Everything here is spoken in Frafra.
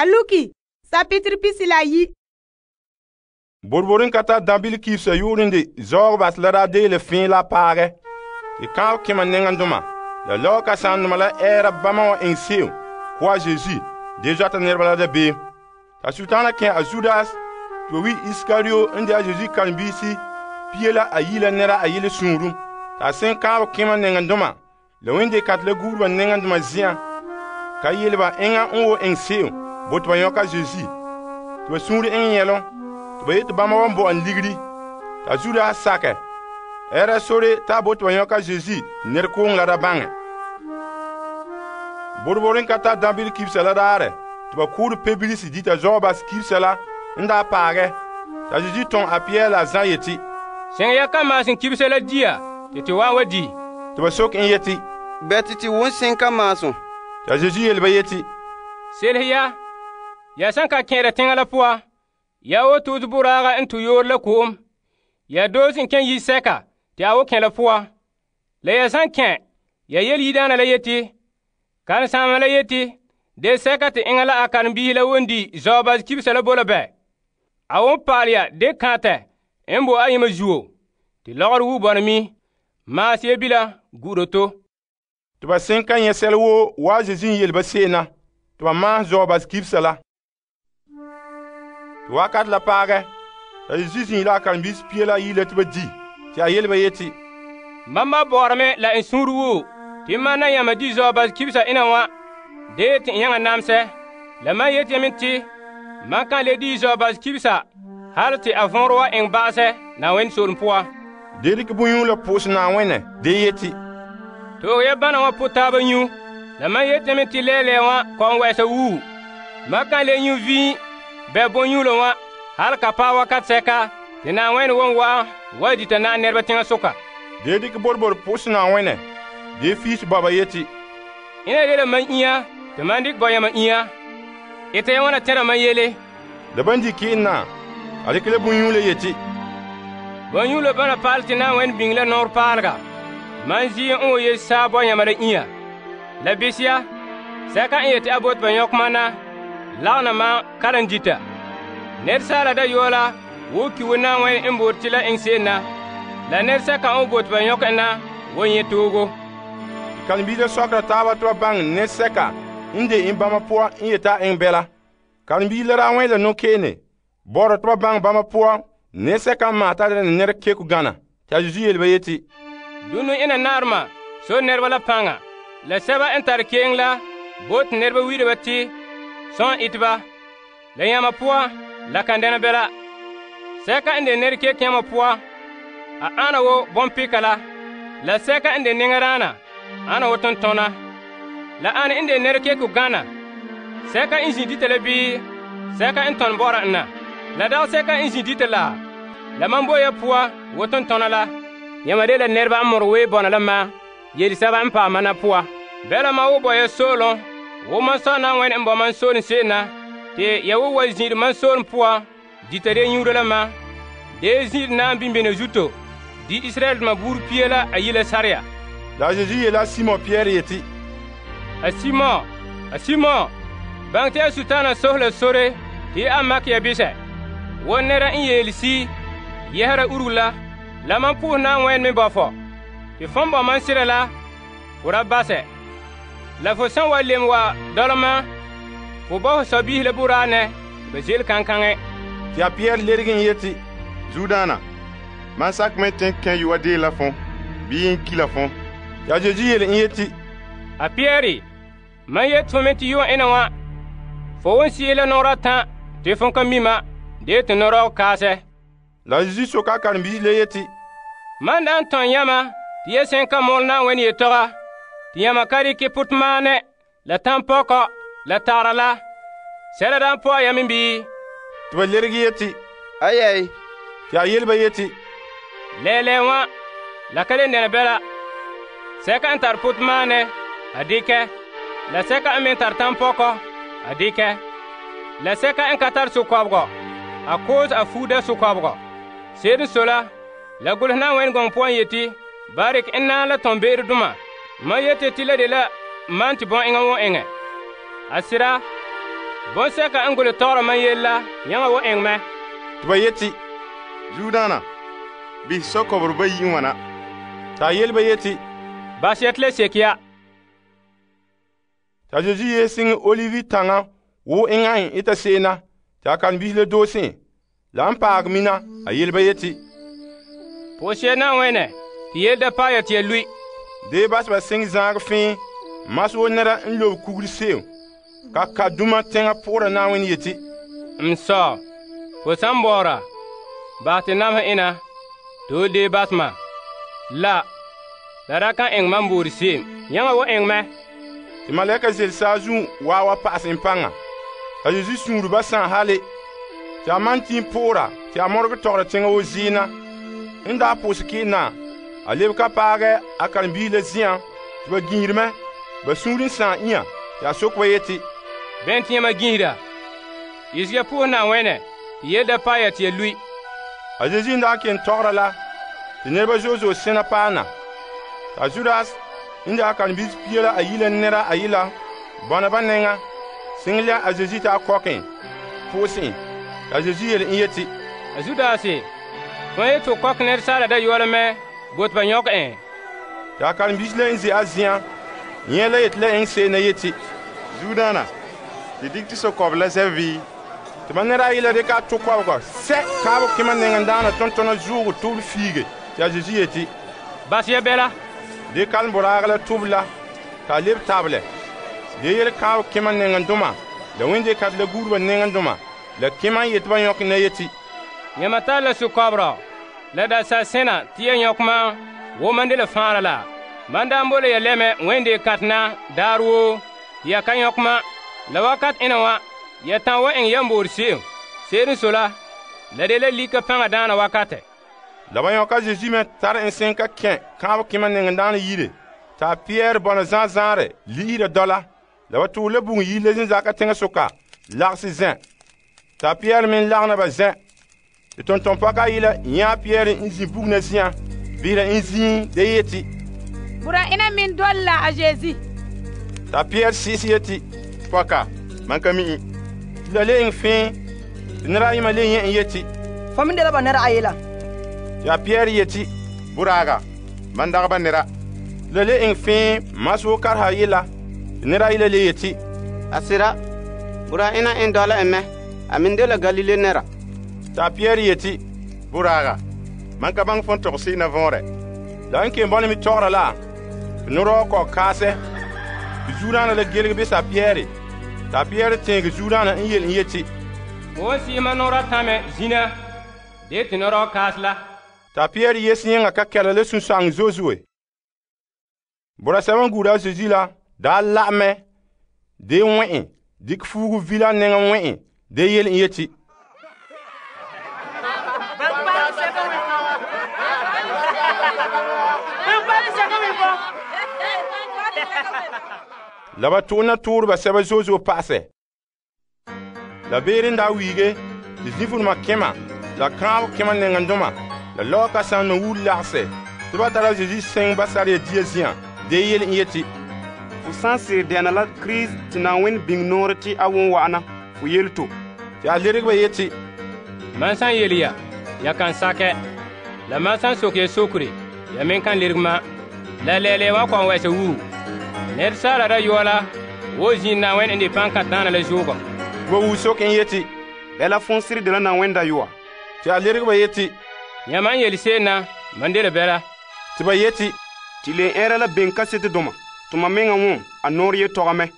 A luki, sapitiri pisi la yi. Borboren ka tar dabile kibsa yu'uren de zaog bas la daa deele fẽe la paagɛ. Tɩ kãab kẽma nɛŋandoma la lɔɔ kasandoma la ɛɛra bama wa eŋɛ se'em ko a Zeezi de zɔta nɛreba la dabeem. Ta Sultana kẽ a Judas tɩ ba wi Iskario n de a Zeezi karen-biisi pia la a yi la nɛra a yele sũurum. Ta sen kãab kẽma nɛŋandoma la wẽn-de-kantɛ la guureba nɛŋandoma zen'an ka yele ba enŋa n wo eŋɛ se'em bo tɩ ba yõka Zeezi tɩ ba sũur eŋɛ yɛlom tɩ ba yete bãmba wan bo en ligiri. Ta Judas sakɛ ɛɛra sore t'a bo tɩ ba yõka Zeezi nɛrekoŋɔ la da baŋɛ. Borboren ka tar dãbɩl kibsa la daarɛ tɩ ba koore Publius dita Zɔɔbas kibsa la n daa paagɛ. Ta Zeezi tɔŋ a Pɩyɛɛr la a Zã yeti, seŋ ya ka maasem kibsa la dia tɩ tɩ wa di. Tɩ ba sok en yeti, bɛte tɩ won seŋ ka maasem. Ta Zeezi yele ba yeti, selhe ya san ka kẽeda teŋa la poa, ya wo tuut boraaga n tu yoor la ko'om. Ya doos n kẽ yi sɛka tɩ a wo kẽ la poa. La ya san kẽ, ya yele yidaana la yeti, karen-saamba la yeti, de sɛka tɩ enŋa la a karen-biisi la won di Zɔɔbas kibsa la bo la bɛ. A won paal ya de kãntɛ n bo a yema zuo, tɩ lɔgɔrɔ wu bɔna mi, maas ya bila gu'uro to. Tɩ ba sen ka nyɛ sɛla woo waa Zeezi n yele ba se'em na, tɩ ba maas Zɔɔbas kibsa la. Tɩ wakat la paagɛ, ta Zeezi zĩi la a karen-biisi pia la yi la tɩ ba di, tɩ a yele ba yeti, mam ba bɔɔrame la n sũur woo tɩ man na yãmba di Zɔɔbas kibsa ina wã de tɩ n yãŋa namsɛ. La man yeti yame tɩ man kan le di Zɔɔbas kibsa hal tɩ a võor wa eŋ ba'asɛ Na'ayenɛ soolem poa. De dɩk bõn-yũu la pʋʋs Na'ayenɛ de yeti, toog ya bãna wã po taaba nyu. La man yeti yame tɩ lɛɛlɛɛ wã kɔn wɛɛsa wuu. Man kan le nyu vĩig bɛ bõn-yũulã wã hal ka paɛ wakat sɛka tɩ Na'ayenɛ won wa'an wa dita na'am nɛreba teŋa soka. De dɩk borbor pʋʋs Na'ayenɛ de fiis baba yeti, ina de la man inya tɩ man dɩk bɔ yãmba inya. Ita ya wãna tẽra man yele. La ban di kɩɩn na, a dɩk la bõn-yũu la yeti, bõn-yũulã bãna paal tɩ Na'ayenɛ biŋ la nɔɔr paalega. Man zi n wo ye saa bɔ yãmba la inya. La bes ya, sɛka n yeti a bot ba yõk man na, lagna man karan dita. Ned saala da yoo la wo ki wo Na'ayenɛ n boor tɩ la eŋ se'em na, la ned sɛka n bot ba yõk en na wo yẽ toogo. Karen-biisã sɔkra taaba tɩ ba baŋɛ ned sɛka n de en bãmba poan n yeta a eŋ bɛla. Karen-biis la daa wẽ la no-keene bɔrɔ tɩ ba baŋɛ bãmba poan ned sɛka n maas t'a dɛna nɛr keko gãna. Tɩ a Zeezi yele ba yeti, dũnu ina naarema so nɛreba la pãnga, la sɛba n tar keeng la bo tɩ nɛreba wi'ira ba tɩ sõn ite ba. La yãmba poa la kan dɛna bɛla. Sɛka n de nɛr kek yãmba poa, a ana wo bõn-pɩka la sɛka n de neŋadaana ana wo tontõna. La ana n de nɛr keko gãna, sɛka n zĩ dita la bii sɛka n tõn bɔra n na. La dag sɛka n zĩ dita la man bo ya poa wo tontõna la. Yãmba de la nɛreba n mor wee bɔna la ma yel-sɛba n paama na poa. Bɛla ma wo bɔ ya soolem wo man sɔ Na'ayenɛ n bɔ man soolem se'em na, tɩ ya wo wa zĩ'ir man soolem poa dita de yũuda la ma, de zĩ'ir na n bimbine zuto di Israɛldoma buur pia la a yi la sarya. La a Zeezi yeela Simo Pɩyɛɛr yeti, a Simo, bãng tɩ a Sutana sos la sore tɩ a mak ya bisɛ. Wo nɛra n yeel si yɛsera urug la man pʋʋs Na'ayenɛ me bɔ fɔ, tɩ fõn bɔ man sɩda la fo ra basɛ. La fo sẽn wa lem wa dɔlema, fo bɔ fo sɔ-biisi la buraanɛ tɩ ba zel kãn-kãngɛ. Tɩ a Pɩyɛɛr ledg n yeti, Zudaana, man sak me tẽn kẽ yʋa dee la fõ, bii n ki la fõ. Tɩ a Zeezi yele n yeti, a Pɩyɛɛre, man yet fo me tɩ yʋã ẽna wã, fo won sie la nɔgra tã tɩ fõ ka mima de tɩ no-rɔg kaasɛ. La a Zeezi soka a karen-biisi la yeti, man da n tõn yãmba tɩ ya sẽn ka mol Na'ayenɛ yetɔga, tɩ yãmba ka rɩke pʋtemaanɛ la tãn-pɔkɔ la tagra la, sɛla da n pɔa yãmb bii? Tɩ ba lerg yeti, Ayɛy. Tɩ a yel ba yeti, lɛɛlɛɛ wã la ka le dɛna bɛla. Sɛka n tar pʋtemaanɛ a dɩkɛ, la sɛka n me tar tãn-pɔkɔ a dɩkɛ, la sɛka n ka tar sʋ-kɔbgɔ a koos a fuuda sʋ-kɔbgɔ. Seed n so la gʋls Na'ayenɛ gɔŋɔ poan yeti, barik n naan la tõn be'er-dʋma. Man yete tɩ la de la man tɩ bõn-eŋa wõ eŋɛ. A sɩda, Bonsɛka n golehɛ tɔgɔra mam yele la yãŋa wa eŋɛ mɛ. Te ba yeti, Zuodaana, behɛ sɔkɔbɔrɔ bayi n wana. ta yele ba yeti, Bas ya te la seke ya. ta Zesu yee siŋe olivi taŋa wo eŋa en eta se'em na, ta karen-biisi la doose. La n paag mina, a yele ba yeti, Pʋgseɛ Na'ayenɛ tɩ yele da paɛ ya tɩ ya lui. dee bas ba siŋe zaagɛ fẽe, mas wo nɛra n lobe kuguri se'em. Ka duma teŋa pʋgɔra Na'ayenɛ yeti, M sɔ, fo san bɔɔra, bahɛ tɩ namesɛ ena, tɩ ho dee bas ma. La ra kan eŋɛ mam boore se'em. Yãŋa wa eŋɛ mɛ. tɩ malɛka zel saazuun waawa pa'asɛ en paŋa. A Zezu suunre ba sãn hale, tɩ a man tɩ pʋʋra tɩ a mɔregɛ tɔgɔra teŋa wo ziina. N daa pʋʋsɛ kɩɩna, a lebe ka paagɛ a karen-biisi la zi'an tɩ ba ginhiri mɛ. Ba suunre n sãn inya tɩ a sok ba yeti, Bɛn tɩ yãmba ginhira? Yese ya pʋgɛ Na'ayenɛ tɩ yele da paɛ ya tɩ ya lui. A Zezu n daa ken tɔgɔra la, tɩ nɛreba zo'e zo'e sẽna paana. T'a Judas n daa karen-biisi pia la ayi la nɛra ayi la bɔna ba nɛŋa, sɩŋɛ la a Zezu tɩ a kɔkẽ pʋʋsẽ en. T'a Zezu yele n yeti, A Zudaase, tõe yete tɩ kɔk nɛresaala dayɔɔle mɛ bo tɩ ba nyɔkɛ en. tɩ a karen-biisi la n ze a zɩan, yẽ la yeti la eŋɛ se'em na yeti, Zuodaana, tɩ dikɛ tɩ sɔkɔbɔ la zɛ vɩɩ. tɩ ba nɛra ayi la dɩka a tʋ kɔbegɔ sɛ kaabɔ kẽma nɛŋendaana tɔntɔnɔ zuugo tʋʋl fiige. Tɩ a Zezu yeti, Bas ya bɛla. dee kalem boraagɔ la tʋb la t'a leb tabelɛ. Dee yele kaabɔ kẽma nɛŋendoma la wẽn-de-kãtɛ la guureba nɛŋendoma la kẽma n yeti ba yõk na yeti, Yãmba tara la sukɔberɔ la dasar sẽna tɩ ya yõk mam wo man de la fãara la. Man daan bo la ya lɛmɛ wẽn-de-kãtɛ na daar woo tɩ ya ka yõk ma. La wakat ẽna wã, ya tãn wa eŋɛ yãmboor se'em. Se'ere n so la de la lika pãnga daana wakatɛ. la ba yõka Zezu me tara n sẽn ka kẽ kaabɔ kẽma nɛŋendaana yire, t'a Pɩyɛɛr bɔna zãa-zãare li'ira dɔla. La ba tʋʋr la bugum yir la zĩnzaka teŋasoka lagsɛ zẽ. T'a Pɩyɛɛr me n lagna ba zẽ. Tɩ tʋmtʋmpɔka ayi la yãa Pɩyɛɛr n zĩ bugum na zi'an, bisera n zĩig de yeti, Bura ina min dole la a Zeezi. t'a Pɩyɛɛr sɩɩs yeti, Pɔka, man ka mi'i. tɩ la le eŋɛ fẽe. Tɩ nɛra ayema le yẽ n yeti, Fo min dela ba nɛra ayi la. tɩ a Pɩyɛɛr yeti, Buraaga, man dagɛ ba nɛra. tɩ la le eŋɛ fẽe mas wo karha yella. Tɩ nɛra ayi la le yeti, A sɩda, bura ina n dɔla en mɛ. A min de la Galile nɛra. t'a Pɩyɛɛr yeti, Buraaga, man ka baŋɛ fõn tɔgɔ na võore. la n ken bɔne me tɔgɔra la, tɩ norɔɔ kɔg kaasɛ. Tɩ zuudaana la gelg be sa Pɩyɛɛre. T'a Pɩyɛɛr tẽege zuudaana n yel n yeti, Fo wan sɩɩma nɔɔra tãmɛ zĩna de tɩ nɔrɔɔ kaas la. t'a Pɩyɛɛr yes yẽngã ka kɛla la sũ-sãng zoe-zoe. Bora sɛba n guura a Zezu la daa la'amɛ dee wẽ'ẽ, dɩk fuugu vila nɛŋa wẽ'ẽ, dee yel n yeti, la ba tʋʋna tʋʋreba sɛba zoe-zoe pa'asɛ. La beere n daa wiige, tɩ zĩfuruma kẽma, la kãab kẽma nɛŋendoma, la lɔɔ kãsam na wur lagsɛ, tɩ ba tara Zezu sẽng basara ya dia zi'an, dee yel n yeti, Fo sã n sɩɩr dɛna la Kirist tɩ Na'ayenɛ biŋ noore tɩ a wʋn wa'ana, fo yele to. tɩ a lerg ba yeti, Man san yele ya kan sakɛ. La man san sok ya sokre, ya me kan lerg ma. La lɛɛlɛ wa kɔn wɛsɛ wuu. Nɛresaala dayɔɔ la wo zĩig Na'ayenɛ n de pãn-kãtɛ-daana la zoogɔ. tɩ ba wuu sok n yeti, Bɛla fõn sɩd de la Na'ayenɛ dayɔa. tɩ a lerg ba yeti, Yãmba n yel se'em na, man de la bɛla. tɩ ba yeti, Tɩ le ɛɛra la beŋ kasetedoma, tɩ mam meŋa wʋm a noor yetɔgɔ mɛ.